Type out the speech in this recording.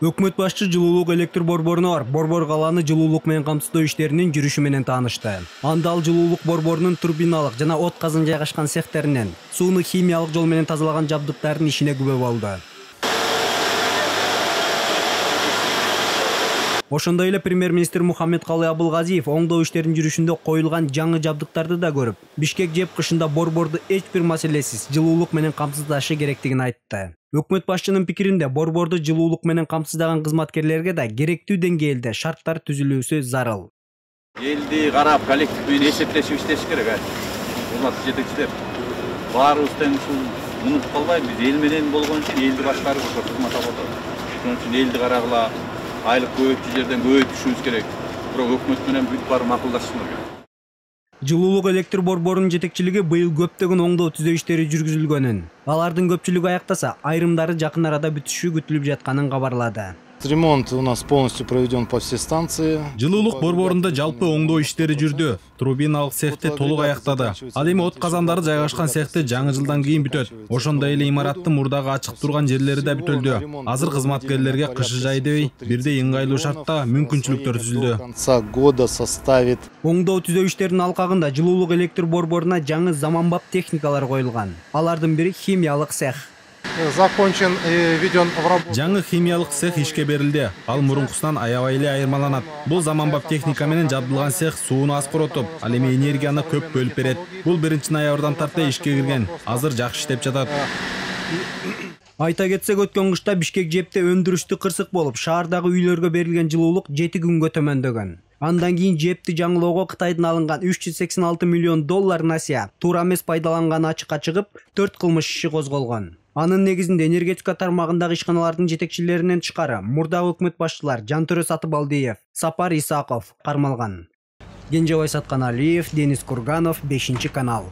Өкмөт башчы жылуулук электр борборуна барып, борбор калааны жылуулук менен камсыздоо иштеринин жүрүшү менен таанышты. Анда ал жылуулук борборунун турбиналык жана от казын жайгашкан цехтеринен сууну химиялык жол менен тазалаган жабдыктардын ишине күбө болду. Ошондой эле премьер-министр Мухаммедкалый Абылгазиев оңдоо иштеринин жүрүшүндө коюлган жаңы жабдыктарды да көрүп, Бишкек жеп кышында борборду эч бир маселесиз жылуулук менен камсыздашы керектигин айтты. Өкмөт башчынын пикиринде борборду жылуулук менен камсыздаган кызматкерлерге да керектүү деңгээлде шарттар түзүлүүсү зарыл. Элди карап, коллектив менен эсептешип иштеш керек. Урматтуу жетекчилер, баарыбыз тең ушул унутуп калбайлы, биз эл менен болгон үчүн элди башкарып ошо кызмат алып атабыз. Ошон үчүн элди карагыла, айлык көбөйтүү жерден көбөйтүшүбүз керек. Бирок өкмөт менен бүт баары макулдашышыбыз керек. Жылуулук электр борборунун жетекчилиги быйыл көптөгөн оңдоо түзөө иштери жүргүзүлгөнүн, алардын көпчүлүгү аяктаса, айрымдары жакын арада бүтүшү күтүлүп жатканын кабарлады. Ремонт у нас полностью проведен по всей станции. Жылуулук борборунда жалпы оңдоо иштери жүрдү. Турбиналык цехти толук аяктады. Ал эми от казандары жайгашкан цехти жаңы жылдан кийин бүтөт. Ошондой эле имараттын мурдагы ачык турган жерлери да бүтүлдү. Азыр кызматкерлерге кышы жай дебей, бирдей ыңгайлуу шартта мүмкүнчүлүктөр түзүлдү. Конца года составит. Оңдоо түзөө иштеринин алкагында жылуулук электр борборуна жаңы заманбап техникалар коюлган. Алардын бири химиялык цех. Закончен и введен в работу. Жаңы химиялык цех ишке берилди. Ал мурункусунан аябай эле айырмаланат. Бул заманбап техника менен жабдылган цех сууну аз коротуп, ал эми энергияны көп бөлүп берет. Бул 1-ноябрдан тарта ишке кирген. Азыр жакшы иштеп жатат. Айта кетсек, өткөн кышта Бишкек жепте өндүрүштү кырсык болуп, шаардагы үйлөргө берилген жылуулук 7 күнгө төмөндөгөн. Андан кийин жепти жаңылоого Кытайдан алынган $386 миллион насыя туура эмес пайдаланганы ачыкка чыгып, 4 кылмыш иши козголгон. Анын негизинде энергетика тармагындагы ишканалардын жетекчилеринен тышкары мурдагы өкмөт башчылар Жантөрө Сатыбалдиев, Сапар Исаков кармалган. Кенжебай Сатканалиев, Денис Курганов, 5 канал.